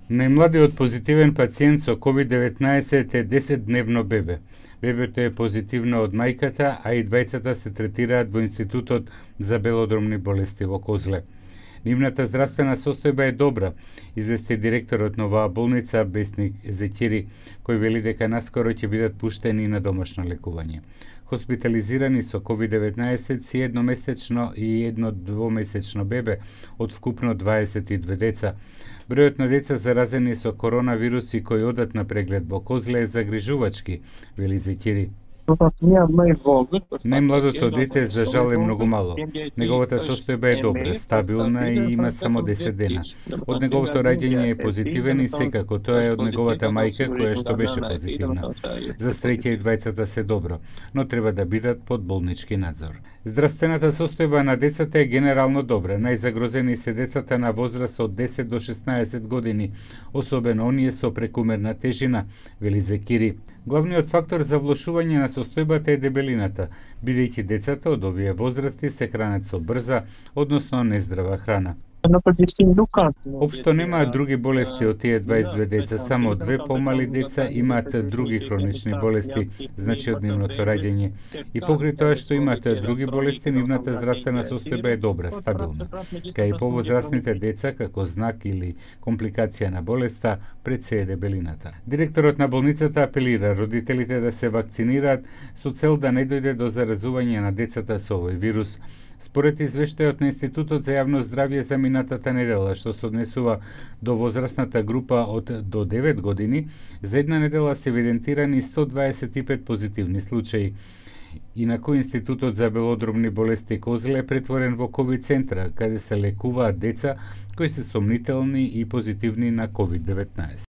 Најмладиот позитивен пациент со COVID-19 е 10-дневно бебе. Бебето е позитивно од мајката, а и двајцата се третираат во Институтот за белодромни болести во Козле. Нивната здравствена состојба е добра, извести директорот на оваа болница Бесник Зеќери, кој вели дека наскоро ќе бидат пуштени на домашно лекување. Хоспитализирани со COVID-19 си едномесечно и едно двомесечно бебе од вкупно 22 деца. Бројот на деца заразени со коронавируси кои одат на преглед во Козле е загрижувачки, вели Зеќери. Најмладото дете за жал е многу мало. Неговата состојба е добра, стабилна и има само 10 дена. Од неговото раѓање е позитивен и секако тоа е од неговата мајка која што беше позитивна. За среќа и двајцата се добро, но треба да бидат под болнички надзор. Здравствената состојба на децата е генерално добра. Најзагрозени се децата на возраст од 10 до 16 години, особено оние со прекумерна тежина, вели Зеќери. Главниот фактор за влошување на состојбата е дебелината, бидејќи децата од овие возрасти се хранат со брза, односно нездрава храна. Општо немаат други болести од тие 22 деца, само 2 помали деца имаат други хронични болести, значи од нивното раѓање. И покрај тоа што имаат други болести, нивната здравствена состојба е добра, стабилна. Кај повозрастните деца, како знак или компликација на болеста, пред се е дебелината. Директорот на болницата апелира родителите да се вакцинираат со цел да не дојде до заразување на децата со овој вирус. Според извештајот на Институтот за јавно здравје за минатата недела, што се однесува до возрастната група од до 9 години, за една недела се евидентирани 125 позитивни случаи. Инаку Институтот за белодромни болести Козле е претворен во COVID центра, каде се лекуваат деца кои се сомнителни и позитивни на COVID-19.